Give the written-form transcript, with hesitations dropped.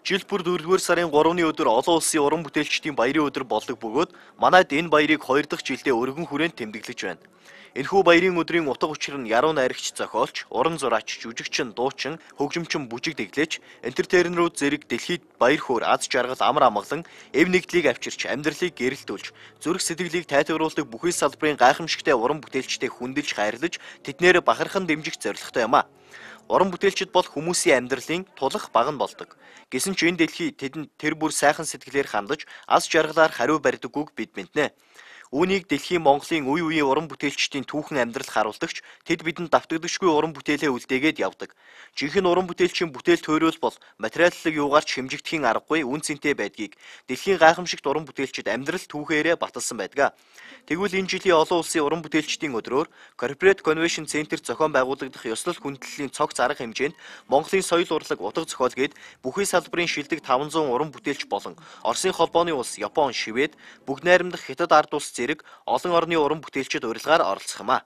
Жил бүр 4-р сарын 3-ны өдөр олон улсын уран бүтээлчдийн баярын өдөр болдог бөгөөд манайд энэ баярыг 2 дахь жилдээ өргөн хүрээнд тэмдэглэж байна. Энэхүү баярын өдрийн утга учир нь яруу найрагч зохиолч, уран зураач, жүжигчин, дуучин, хөгжимчин бүжиг дэглэж, энтертейнерүүд зэрэг дэлхийд баяр хөөр, аз жаргал амар амгалан, эв нэгдлийг авчирч, амьдралыг гэрэлтүүлж, зүрх сэтгэлийг тайтгаруулдаг бүхий салбарын гайхамшигтай уран бүтээлчдээ хүндэлж хайрлаж, тэднээр бахархан дэмжих зорилготой юм а. Уран бүтээлчид бол хүмүүсийн амьдралын тулах баг нь болдог. Гэсэн ч энэ дэлхий тэдэнд тэр бүр сайхан сэтгэлээр хандаж, аз жаргалаар хариу барьдаггүйг бид мэднэ. Үүнийг дэлхийн Монголын үе үеийн уран бүтээлчдийн түүхэн амьдрал харуулдагч тэд бидэнд давтагдагчгүй уран бүтээлээ үлдээгээд явдаг. Жинхэнэ уран бүтээлчийн бүтээл төрөл бол материаллыг юугаарч хэмжигдэхийн аргагүй үн цэнтэй байдгийг дэлхийн гайхамшигт уран бүтээлчид амьдрал түүхээрээ баталсан байдаг. Тэгвэл энэ жилийн олон улсын уран бүтээлчдийн өдрөөр Corporate Convention Center зохион байгуулагдах ёслол хүндлэлийн цогц арга хэмжээнд Монголын соёл урлаг утга зохиол гээд бүхий салбарын шилдэг 500 уран бүтээлч болон Оросын холбооны улс, Япон, Швед, бүгд найрамдах Хятад ард улс зэрэг олон орны уран бүтээлчид урилгаар оролцох юм а.